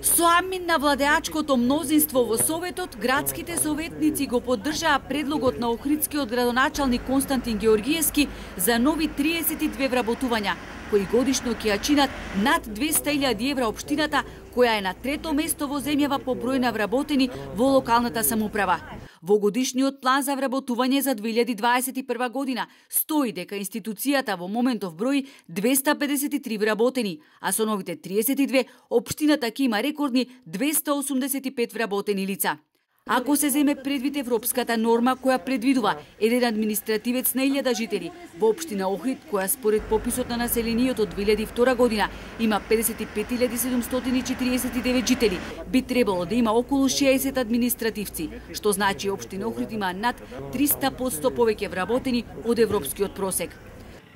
Со амин на владеачкото мнозинство во Советот, градските советници го поддржаа предлогот на охридскиот градоначалник Константин Георгиевски за нови 32 вработувања, кои годишно ќе ја чинат над 200.000 евра општината, која е на трето место во земјава по број на вработени во локалната самоуправа. Во годишниот план за вработување за 2021 година стои дека институцијата во моментов брои 253 вработени, а со новите 32 општината ќе има рекордни 285 вработени лица. Ако се земе предвид европската норма која предвидува еден административец на 1000 жители, во општина Охрид, која според пописот на населението од 2002 година има 55.749 жители, би требало да има околу 60 административци, што значи општина Охрид има над 300% повеќе вработени од европскиот просек.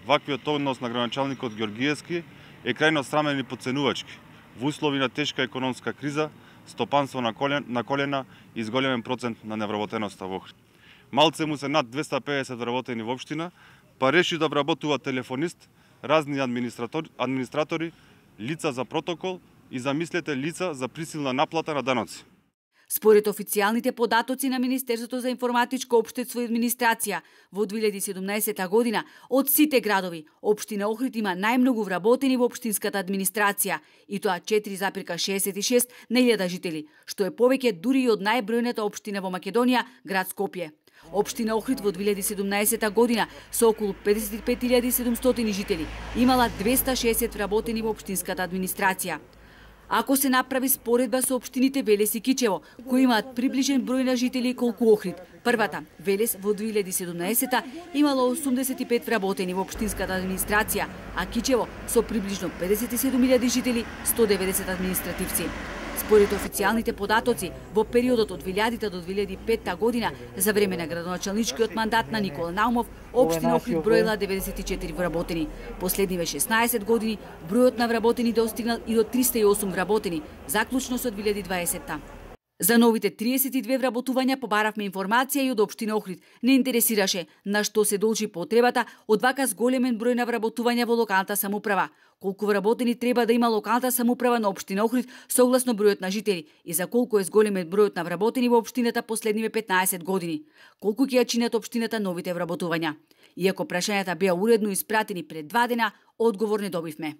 Ваквиот однос на градоначалникот Георгиевски е крајно срамен и потценувачки во услови на тешка економска криза, стопанство на колена и зголемен процент на невработеноста во Охрид. Малце му се над 250 вработени во општина, па реши да вработува телефонист, разни администратори, лица за протокол и замислете лица за присилна наплата на даноци. Според официјалните податоци на Министерството за информатичко општество и администрација, во 2017 година од сите градови, општина Охрид има најмногу вработени во општинската администрација, и тоа 4,66 на 1000 жители, што е повеќе дури и од најбројната општина во Македонија, град Скопје. Општина Охрид во 2017 година со околу 55.700 жители имала 260 вработени во општинската администрација. Ако се направи споредба со општините Велес и Кичево, кои имаат приближен број на жители колку Охрид, првата, Велес, во 2017 имала 85 вработени во општинската администрација, а Кичево со приближно 57.000 жители, 190 административци. Според официјалните податоци, во периодот од 2000 до 2005 година, за време на градоначалничкиот мандат на Никола Наумов, општина Охрид броила 94 вработени. Последниве 16 години, бројот на вработени достигнал и до 308 вработени, заклучно со 2020-та. За новите 32 вработувања побаравме информација и од општина Охрид. Не интересираше на што се должи потребата од вака зголемен број на вработувања во локалната самоуправа. Колку вработени треба да има локалната самоуправа на општина Охрид согласно бројот на жители и за колку е зголемен бројот на вработени во општината последниве 15 години. Колку ќе ја чинат општината новите вработувања. Иако прашањата беа уредно испратени пред 2 дена, одговор не добивме.